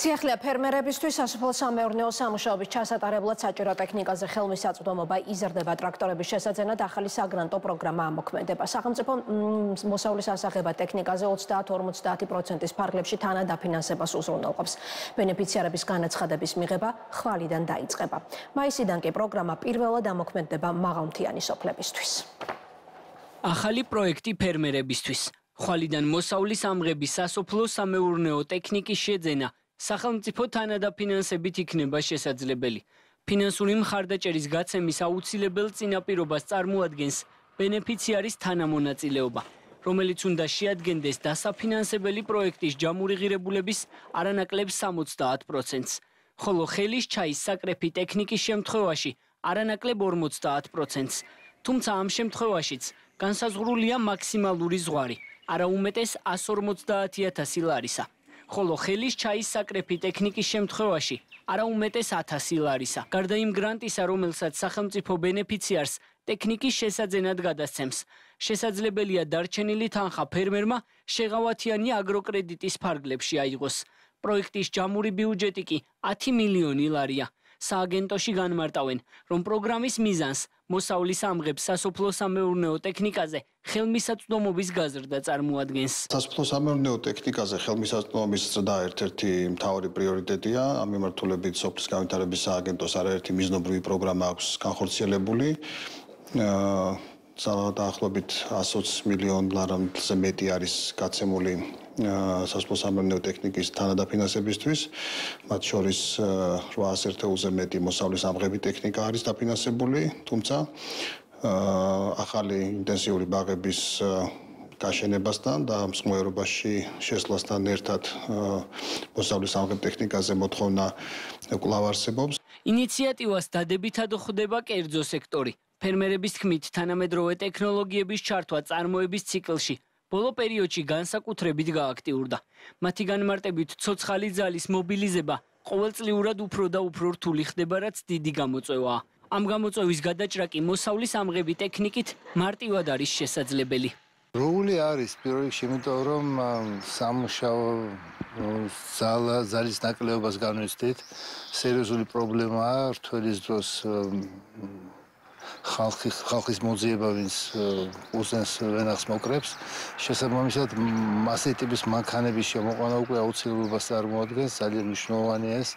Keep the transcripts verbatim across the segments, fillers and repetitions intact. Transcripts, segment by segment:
სიახლეა ფერმერებისთვის სასოფლო-სამეურნეო სამუშაოების ჩასატარებლად საჭირო ტექნიკაზე ხელმისაწვდომობა იზრდება ტრაქტორების შესაძენად ახალი საგრანტო პროგრამა ამოქმედება. სახელმწიფო მოსავლის ასაღებად ტექნიკაზე ოცდაათ ორმოცდაათი პროცენტის ფარგლებში თანადაფინანსებას უზრუნველყოფს. ბენეფიციარების განაცხადების მიღება ხვალიდან დაიწყება. მაისიდან კი პროგრამა პირველად ამოქმედება მაღალმთიანი სოფლებისთვის. ახალი პროექტი ფერმერებისთვის. ხვალიდან მოსავლის ამღების სასოფლო-სამეურნეო ტექნიკის შეძენა სახელმწიფო თანადაფინანსებით იქნება შესაძლებელი. ფინანსური მხარდაჭერის გაცემის აუცილებელ წინაპირობას წარმოადგენს ბენეფიციარის თანამონაწილეობა, რომელიც უნდა შეადგენდეს დასაფინანსებელი პროექტის ჯამური ღირებულების არანაკლებ სამოცდაათ პროცენტს, ხოლო ხელის ჩაის საკრეფი ტექნიკის შემთხვევაში არანაკლებ ორმოცდაათ პროცენტს. თუმცა ამ შემთხვევაშიც განსაზღვრულია მაქსიმალური ზღვარი, არაუმეტეს ას ორმოცდაათი ათასი ლარისა. ხოლო ხელის ჩაის საკრეფი ტექნიკის შემთხვევაში არაუმეტეს ათასი ლარისა. გარდა იმ გრანტისა, რომელსაც სახელმწიფო ბენეფიციარს ტექნიკის შესაძენად გადასცემს, შესაძლებელია დარჩენილი თანხა ფერმერმა შეღავათიანი აგროკრედიტის ფარგლებში აიღოს. პროექტის ჯამური ბიუჯეტი კი ათი მილიონი ლარია. სააგენტოში განმარტავენ, რომ პროგრამის მიზანს მოსავლის ამღებს სასოფლო-სამეურნეო ტექნიკაზე ხელმისაწვდომობის გაზრდა წარმოადგენს. სასოფლო-სამეურნეო ტექნიკაზე ხელმისაწვდომობის ზრდა ერთ-ერთი მთავარი პრიორიტეტია. ამ მიმართულებით სოფლის განვითარების სააგენტოს არაერთი მიზნობრივი პროგრამა აქვს განხორციელებული. დაახლოებით ას ოცი მილიონ ლარამდე მეტი არის გაცემული სასოფლო-სამეურნეო ტექნიკის თანადაფინანსებისთვის. მათ შორის რვაას ერთეულზე მეტი მოსავლის ამღები ტექნიკა არის დაფინანსებული, თუმცა ახალი ინტენსიური ბაღების გაშენებასთან და მსხმოერობაში შესვლასთან ერთად მოსავლის ამღებ ტექნიკაზე მოთხოვნა კვლავ არსებობს. ინიციატივას დადებითად ხვდება კერძო სექტორი. ფერმერების თქმით, თანამედროვე ტექნოლოგიების ჩართვა წარმოების ციკლში ბოლო პერიოდში განსაკუთრებით გააქტიურდა. მათი განმარტებით, ცოცხალი ძალის მობილიზება ყოველწლიურად უფრო და უფრო რთული ხდება, რაც დიდი გამოწვევაა. ამ გამოწვევის გადაჭრა კი მოსავლის ამღები ტექნიკით მარტივად არის შესაძლებელი. როული არის პირველ რიგში, იმიტომ რომ სამუშაო ძალის ნაკლებობას განვიცდით, სერიოზული პრობლემაა რთველის დროს ხალხის ხალხის მოძიება, ვინც უზენს ვენახს მოკრებს. შესაბამისად, ასეთი ტიპის მანქანების შემოყვანა უკვე აუცილებლობას წარმოადგენს, ძალიან მნიშვნელოვანია ეს.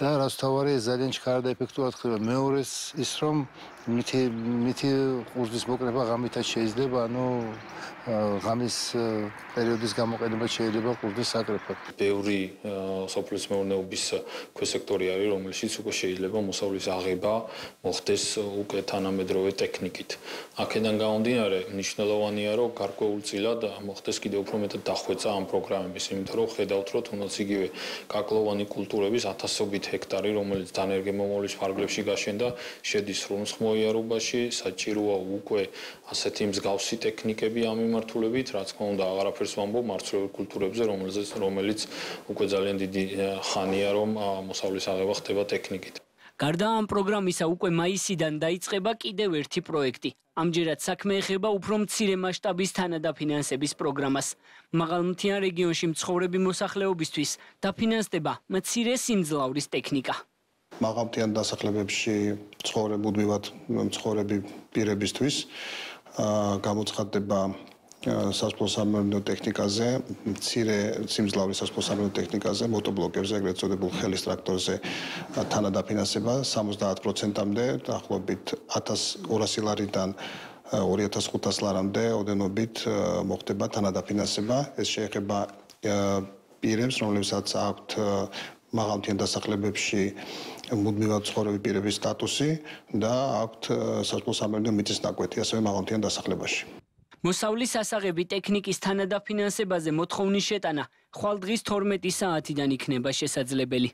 და რაც თავარია, ძალიან ჩქარა და ეფექტურად ხდება. მეორეს ის, რომ მითი მითი ყურძნის მოკრება ღამითაც შეიძლება, ანუ ღამის პერიოდის გამოყენება შეიძლება ყურძნის საკრეფად. ბევრი სოფლის მეურნეობის ქვესექტორი არის, რომელშიც უკვე შეიძლება მოსავლის აღება მოხდეს უკვე თანამედროვე ტექნიკით. აქედან გამომდინარე, მნიშვნელოვანია, რომ გარკვეულწილად მოხდეს კიდევ უფრო მეტად დახვეწა ამ პროგრამების, იმიტომ რომ ხედავთ, რომ თუნდაც იგივე კაკლოვანი კულტურების ათასობით ჰექტარი, რომელიც დანერგემომავლის ფარგლებში გაშენდა, შედის სრულმსხმოიარობაში, საჭიროა უკვე ასეთი მსგავსი ტექნიკები ამ მიმართულებით, რაც თქმა უნდა აღარაფერს ვამბობ მარცვლეულ კულტურებზე, რომელიც რომელიც უკვე ძალიან დიდი ხანია, რომ მოსავლის აღება ხდება ტექნიკით. გარდა ამ პროგრამისა, უკვე მაისიდან დაიწყება კიდევ ერთი პროექტი. ამჯერად საქმე ეხება უფრო მცირე მასშტაბის თანადაფინანსების პროგრამას. მაღალმთიან რეგიონში მცხოვრები მოსახლეობისთვის დაფინანსდება მცირე სიმძლავრის ტექნიკა. მაღალმთიან დასახლებებში მცხოვრებუდმივად მცხოვრები პირებისთვის გამოცხადდება სასოფლო-სამეურნეო ტექნიკაზე, მცირე სიმძლავრის სასოფლო-სამეურნეო ტექნიკაზე, მოტორბლოკებზე, ეგრეთ წოდებულ ხელის ტრაქტორზე თანადაფინანსება სამოცდაათ პროცენტამდე, დაახლოებით ათას ორასი ლარიდან ორი ათას ხუთასი ლარამდე ოდენობით მოხდება თანადაფინანსება. ეს შეეხება პირებს, რომლებსაც აქვთ მაღალმთიან დასახლებებში მუდმივად მცხოვრები პირების სტატუსი და აქვთ სასოფლო-სამეურნეო მიწისნაკვეთი, ასევე მაღალმთიან დასახლებაში. მოსავლის ასაღები ტექნიკის თანადაფინანსებაზე მოთხოვნის შეტანა ხვალ დღის თორმეტი საათიდან იქნება შესაძლებელი.